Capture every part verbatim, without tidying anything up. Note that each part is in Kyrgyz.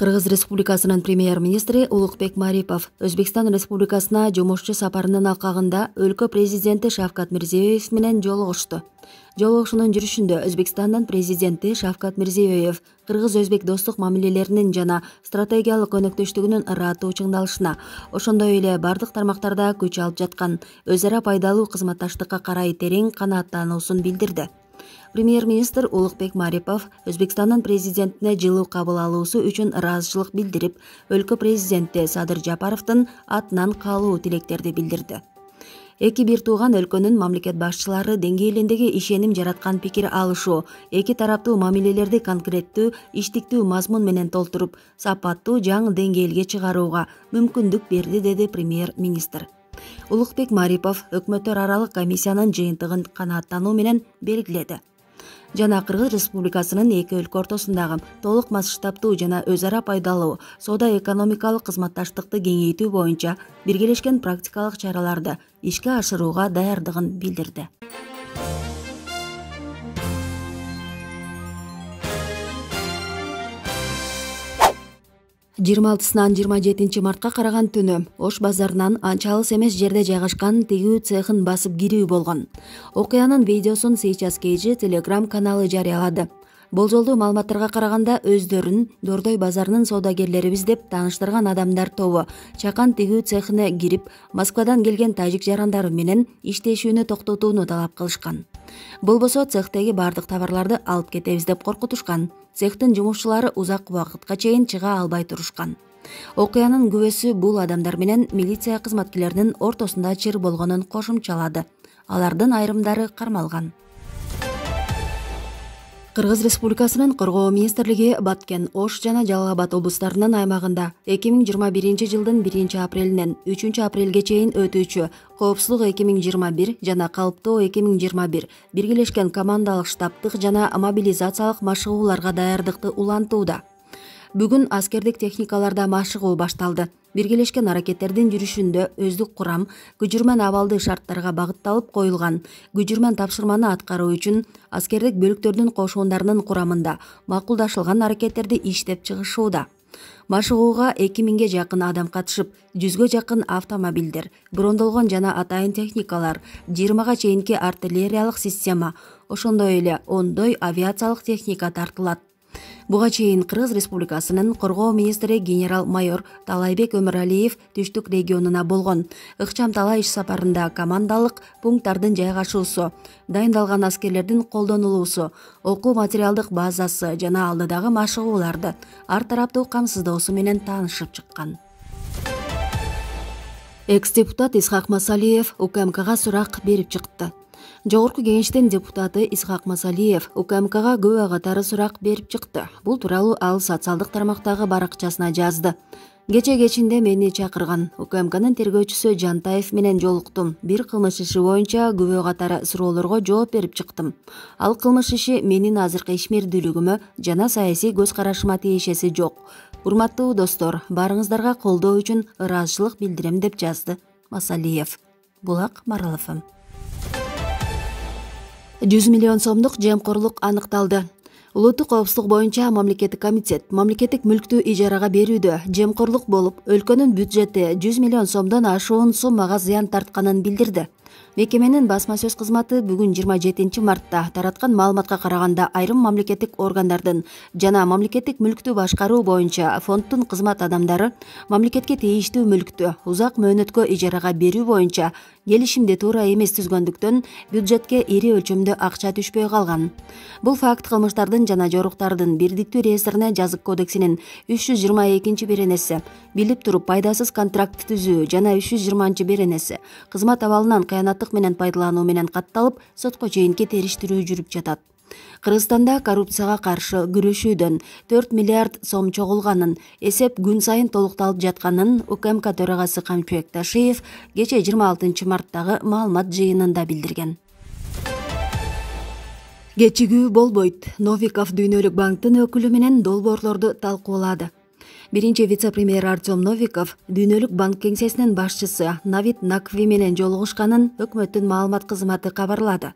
Кыргыз Республикасынын премьер-министри Улукбек Марипов Өзбекстан Республикасына жумушчу сапарынын алкагында өлкө президенти Шавкат Мирзиёев менен жолугушту. Жолугушуунун жүрүшүндө Өзбекстандын президенти Шавкат Мирзиёев кыргыз-өзбек достук мамилелеринин жана стратегиялык өнөктөштүгүнүн ыраттуу чыңдалышына, ошондой эле бардык тармактарда күч алып жаткан өз ара пайдалуу кызматташтыкка карай терең канааттануусун билдирди. Премьер-министр Улукбек Марипов Өзбекстандын президентине жылуу кабыл алуусу үчүн ыраазычылык билдирип, өлкө президенти Садыр Жапаровдун атынан каалуу тилектерди билдирди. Эки бир тууган өлкөнүн мамлекет башчылары деңгээлиндеги ишеним жараткан пикир алышуу, эки тараптуу мамилелерди конкреттүү, иштиктүү мазмун менен толтуруп, сапаттуу жаңы деңгээлге чыгарууга мүмкүндүк берди, деди премьер-министр. Улукбек Марипов өкмөттөр аралык комиссиянын жыйынтыгын канааттануу менен белгиледи жана Кыргыз Республикасынын эки өлкө ортосундагы толук масштабтуу жана өз ара пайдалуу соода-экономикалык кызматташтыкты кеңейтүү боюнча биргелешкен практикалык чараларды ишке ашырууга даярдыгын билдирди. жыйырма алтысынан жыйырма жетинчи мартка караган түнү Ош базарынан анча алыс эмес жерде жайгашкан тигүү цехын басып кирүү болгон. Окуянын видеосун Сейчас Кейжи Telegram каналы жарыялады. Болжолдуу маалыматтарга караганда өздөрүн Дордой базарынын соодагерлерибиз деп тааныштырган адамдар тобу чакан тигүү цехине кирип, Москвадан келген тажик жарандары менен иштешүүнү токтотууну талап кылышкан. Болбосо цехтеги бардык товарларды алып кетебиз деп коркутушкан. Цехтин жумушчулары узак убакытка чейин чыга албай турушкан. Окуянын күбөсү бул адамдар менен милиция кызматкерлеринин ортосунда чыр болгонун кошумчалады. Алардын айрымдары кармалган. Кыргыз Республикасынын Коргоо министрлиги Баткен, Ош жана Жалал Абад облустарынын аймагында эки миң жыйырма биринчи жылдын биринчи апрелинен үчүнчү апрелге чейин өтүүчү Коопсуздук эки миң жыйырма бир жана Калыптоо эки миң жыйырма бир биргелешкен командалык штабтык жана мобилизациялык машыгууларга даярдыкты улантууда. Бүгүн аскердик техникаларда машыгуу башталды. Биргелешкен аракеттердин жүрүшүндө өздүк курам күчүрмөн абалды шарттарга багытталып коюлган. Күчүрмөн тапшырманы аткаруу үчүн аскердик бөлүктөрдүн кошундарынын курамында макулдашылган аракеттерди иштеп чыгышууда. Машыгууга эки миңге жакын адам катышып, жүзгө жакын автомобилдер, брондолгон жана атайын техникалар, жыйырмага чейинки артиллериялык система, ошондой эле ондой авиациялык техника тартылат. Буга чейин Кыргыз Республикасынын Коргоо министри генерал-майор Талайбек Өмүралиев түштүк регионуна болгон ыкчам талаа иш сапарында командалык пункттардын жайгашуусу, дайындалган аскерлердин колдонулуусу, окуу материалдык базасы жана алдыдагы машыгууларды ар тараптуу камсыздоосу менен таанышып чыккан. Экс-депутат Исхак Масалиев УКМКга сурак берип чыкты. Жогорку кеңештин депутаты Исхак Масалиев УКМКга күбө катары сурак берип чыкты. Бул тууралуу ал социалдык тармактагы баракчасына жазды. Кече кечинде мени чакырган. УКМКнын тергөөчүсү Жантаев менен жолуктум. Бир кылмыш иши боюнча күбө катары суроолорго жооп берип чыктым. Ал кылмыш иши менин азыркы ишмердүүлүгүмө жана саясий көз карашыма тиешеси жок. Урматтуу достор, баарыңыздарга колдоо үчүн ыраазычылык билдирем, деп жазды Масалиев. Булак Маралов. жүз миллион сомдук жемкорлук аныкталды. Улуттук коопсуздук боюнча мамлекеттик комитет мамлекеттик мүлктү ижарага берүүдө жемкорлук болуп, өлкөнүн бюджети жүз миллион сомдон ашуун суммага зыян тартканын билдирди. Мекеменин басма сөз кызматы бүгүн жыйырма жетинчи мартта тараткан маалыматка караганда айрым мамлекеттик органдардын жана мамлекеттик мүлктү башкаруу боюнча фонддун кызмат адамдары мамлекетке тийиштүү мүлктү узак мөөнөткө ижарага берүү боюнча келишимди туура эмес түзгөндүктөн бюджетке ири өлчөмдө акча түшпөй калган. Бул факт кылмыштардын жана жоруктардын бирдиктүү реестрине жазык кодексинин үч жүз жыйырма экинчи беренеси, билип туруп пайдасыз контракт түзүү жана үч жүз жыйырманчы беренеси, кызмат абалынан кыянаттык менен пайдалануу менен катталып, сотко чейинки териштирүү жүрүп жатат. Кыргызстанда коррупцияга каршы күрөшүүдөн төрт миллиард сом чогулганын, эсеп күн сайын толукталып жатканын УКМК төрагасы Камчыбек Ташиев кече жыйырма алтынчы марттагы маалымат жыйынында билдирген. Кечигүү болбойт. Новиков Дүйнөлүк банктын өкүлү менен долбоорлорду талкуулады. Биринчи вице-премьер Артем Новиков Дүйнөлүк банк кеңсесинин башчысы Навид Накви менен жолугушканын өкмөттүн маалымат кызматы кабарлады.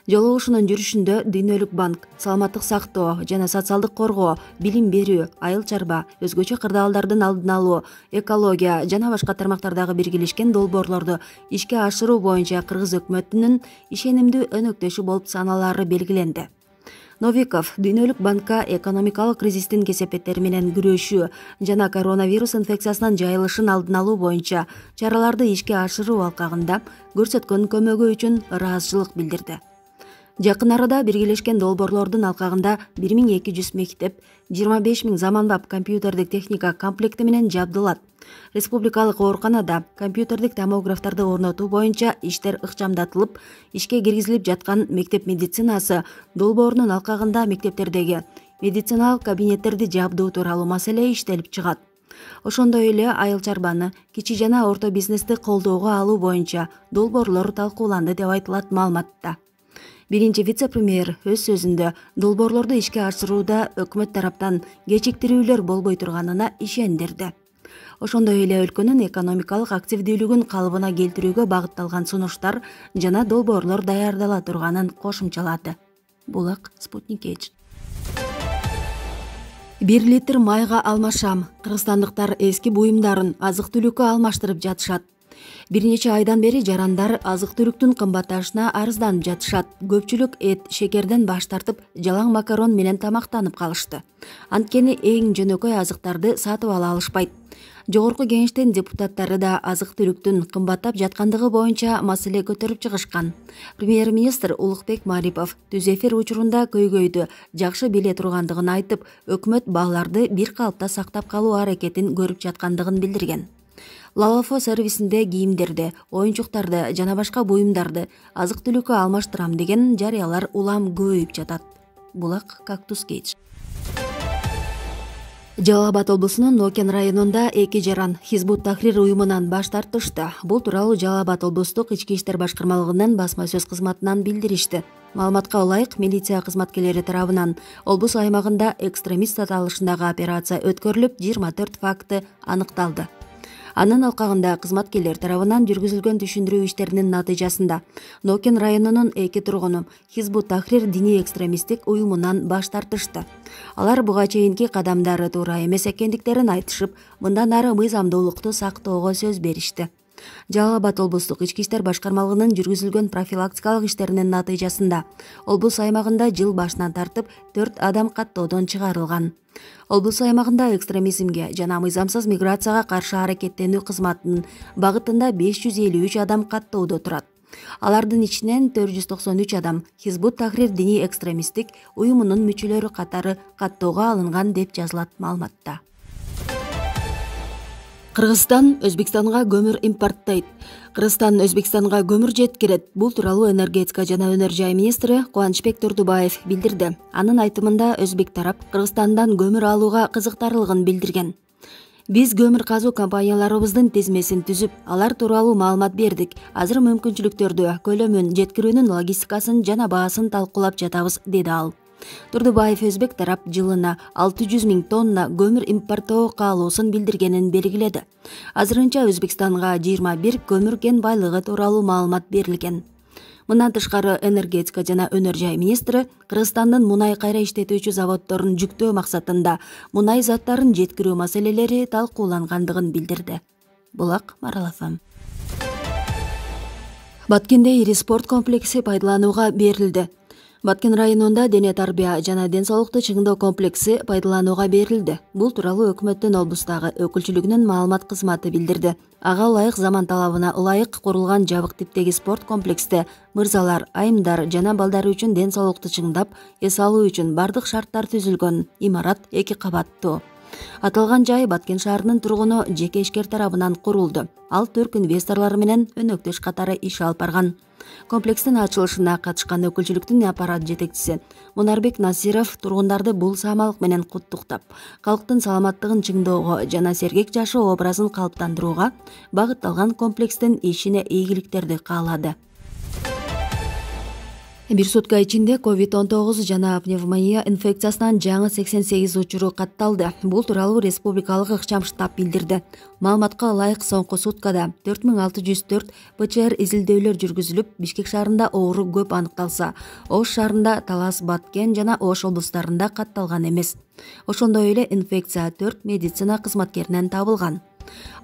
Жолугушуунун жүрүшүндө Дүйнөлүк банк саламаттык сактоо жана социалдык коргоо, билим берүү, айыл чарба, өзгөчө кырдаалдардын алдын алуу, экология жана башка тармактардагы биргелешкен долбоорлорду ишке ашыруу боюнча кыргыз өкмөтүнүн ишенимдүү өнөктөшү болуп саналаары белгиленди. Новиков Дүйнөлүк банкка экономикалык кризистин кесепеттери менен күрөшүү жана коронавирус инфекциясынын жайылышын алдын алуу боюнча чараларды ишке ашыруу алкагында көрсөткөн көмөгү үчүн ыраазычылык билдирди. Жакын арада биргелешкен долбоорлордун алкагында бир миң эки жүз мектеп, жыйырма беш миң заманбап компьютердик техника комплекти менен жабдылат. Республикалык ооруканада компьютердик томографтарды орнотуу боюнча иштер ыкчамдатылып, ишке киргизилип жаткан мектеп медицинасы долбоорунун алкагында мектептердеги медициналык кабинеттерди жабдуу тууралуу маселе иштелип чыгат. Ошондой эле айыл чарбаны, кичи жана орто бизнести колдоого алуу боюнча долбоорлор талкууланды деп айтылат маалыматта. Биринчи вице-премьер өз сөзүндө долбоорлорду ишке ашырууда өкмөт тараптан кечиктирүүлөр болбой турганына ишендирди. Ошондой эле өлкөнүн экономикалык активдүүлүгүн калыбына келтирүүгө багытталган сунуштар жана долбоорлор даярдала турганын кошумчалады. Булак Спутник Эйч. Бир литр майга алмашам. Кыргызстандыктар эски буюмдарын азык-түлүккө алмаштырып жатышат. Бир нече айдан бери жарандар азык-түлүктүн кымбатташына арызданып жатышат. Көпчүлүк эт, шекерден баш тартып, жалаң макарон менен тамактанып калышты. Анткени эң жөнөкөй азыктарды сатып ала алышпайт. Жогорку кеңештин депутаттары да азык-түлүктүн кымбаттап жаткандыгы боюнча маселе көтөрүп чыгышкан. Премьер-министр Улукбек Марипов түз эфир учурунда көйгөйдү жакшы биле тургандыгын айтып, өкмөт бааларды бир калыпта сактап калуу аракетин көрүп жаткандыгын билдирген. Лалафо сервисинде кийимдерди, оюнчуктарды жана башка буюмдарды азык-түлүккө алмаштырам деген жарыялар улам көбөйүп жатат. Булак Кактус Кейдж. Жалал Абад облусунун Нокен районунда эки жаран Хизбут Тахрир уюмунан баш тартышты. Бул тууралуу Жалал Абад облустук ички иштер башкармалыгынын басма сөз кызматынан билдиришти. Маалыматка ылайык, милиция кызматкерлери тарабынан облус аймагында экстремист аталышындагы операция өткөрүлүп, жыйырма төрт факты аныкталды. Анын алкагында кызматкерлер тарабынан жүргүзүлгөн түшүндүрүү иштеринин натыйжасында Нокен районунун эки тургуну Хизбут Тахрир диний экстремисттик уюмунан баш тартышты. Алар буга чейинки кадамдары туура эмес экендиктерин айтышып, мындан ары мыйзамдуулукту сактоого сөз беришти. Жалал Абад облустук ички иштер башкармалыгынын жүргүзүлгөн профилактикалык иштеринин натыйжасында облус аймагында жыл башынан тартып төрт адам каттоодон чыгарылган. Облус аймагында экстремизмге жана мыйзамсыз миграцияга каршы аракеттенүү кызматынын багытында беш жүз элүү үч адам каттоодо турат. Алардын ичинен төрт жүз токсон үч адам Хизбут Тахрир диний экстремисттик уюмунун мүчөлөрү катары каттоого алынган деп жазылат маалыматта. Кыргызстан Өзбекстанга көмүр импорттойт. Кыргызстан Өзбекстанга көмүр жеткирет. Бул тууралуу энергетика жана өнөр жай министри Кубанычбек Турдубаев билдирди. Анын айтымында Өзбек тарап Кыргызстандан көмүр алууга кызыктарлыгын билдирген. Биз көмүр казуу компанияларыбыздын тизмесин түзүп, алар тууралуу маалымат бердик. Азыр мүмкүнчүлүктөрдү, көлөмүн, жеткирүүнүн логистикасын жана баасын талкуулап жатабыз, деди ал. Турдубаев Өзбек тарап жылына алты жүз миң тонна көмүр импорттоо каалоосун билдиргенин белгиледи. Азырынча Өзбекстанга жыйырма бир көмүр кен байлыгы тууралуу маалымат берилген. Мындан тышкары энергетика жана өнөр жай министри Кыргызстандын мунай кайра иштетүүчү заводдорун жүктөө максатында мунай заттарын жеткирүү маселелери талкуулангандыгын билдирди. Булак Марал эф эм. Баткенде ири спорт комплекси пайдаланууга берилди. Баткен районунда дене тарбия жана ден соолукту чыңдоо комплекси пайдаланууга берилди. Бул тууралуу өкмөттүн облустагы өкүлчүлүгүнүн маалымат кызматы билдирди. Ага ылайык заман талабына ылайык курулган жабык типтеги спорт комплексте мырзалар, айымдар жана балдар үчүн ден соолукту чыңдап, эс алуу үчүн бардык шарттар түзүлгөн. Имарат эки кабаттуу. Аталган жай Баткен шаарынын тургуну жеке ишкер тарабынан курулду. Ал түрк инвесторлору менен өнөктөш катары иш алып барган. Комплекстин ачылышына катышкан өкүлчүлүктүн аппарат жетекчиси Мунарбек Насиров тургундарды бул самалык менен куттуктап, калктын саламаттыгын чыңдоого жана сергек жашоо образын калыптандырууга багытталган комплекстин ишине ийгиликтерди каалады. Бир сутка ичинде ковид он тогуз жана пневмония инфекциясынан жаңы сексен сегиз учуру катталды. Бул тууралуу республикалык ыкчам штаб билдирди. Маалыматка ылайык соңку суткада төрт миң алты жүз төрт ПЧР изилдөөлөр жүргүзүлүп, Бишкек шаарында оору көп аныкталса, Ош шаарында, Талас, Баткен жана Ош облустарында катталган эмес. Ошондой эле инфекция төрт медицина кызматкеринен табылган.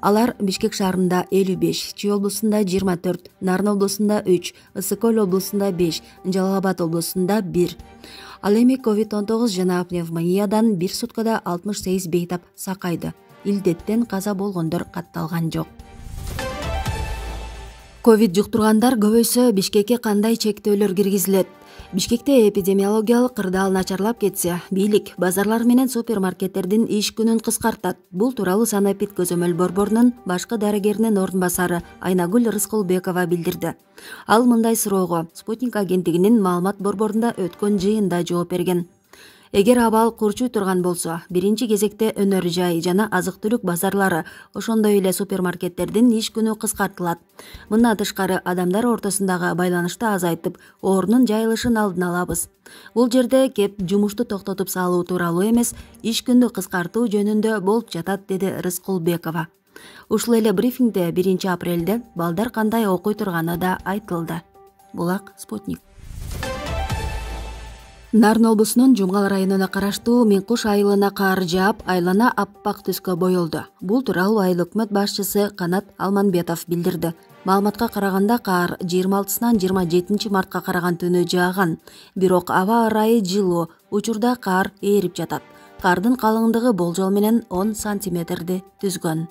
Алар Бишкек шаарында элүү беш, Чүй облусунда жыйырма төрт, Нарын облусунда үч, Ысык-Көл облусунда беш, Жалал Абад облусунда бир. Ал эми ковид он тогуз жана пневмониядан бир суткада алтымыш сегиз бейтап сакайды. Илдеттен каза болгондор катталган жок. Ковид жуктургандар көбөйсө Бишкекке кандай чектөөлөр киргизилет? Бишкекте эпидемиологиялык кырдаал начарлап кетсе, бийлик базарлар менен супермаркеттердин иш күнүн кыскартат. Бул тууралуу Санэпид көзөмөл борборунун башкы дарыгеринин орун басары Айнагүл Рыскулбекова билдирди. Ал мындай суроого Спутник агенттигинин маалымат борборунда өткөн жыйында жооп берген. Эгер абал курчуй турган болсо, биринчи кезекте өнөр жай жана азык-түлүк базарлары, ошондой эле супермаркеттердин иш күнү кыскартылат. Мындан тышкары адамдар ортосундагы байланышты азайтып, оорунун жайылышын алдын алабыз. Бул жерде кеп жумушту токтотуп салуу тууралуу эмес, иш күндү кыскартуу жөнүндө болуп жатат, деди Рыскулбекова. Ушул эле брифингде биринчи апрелде балдар кандай окуй турганы да айтылды. Булак Спутник. Нарын облусунун Жумгал районуна караштуу Миң Куш айылына кар жаап, айлана аппак түскө боелду. Бул тууралуу айыл өкмөт башчысы Канат Алманбетов билдирди. Маалыматка караганда кар жыйырма алтысынан жыйырма жетинчи мартка караган түнү жааган. Бирок аба ырайы жылуу, учурда кар ээрип жатат. Кардын калыңдыгы болжол менен он сантиметрди түзгөн.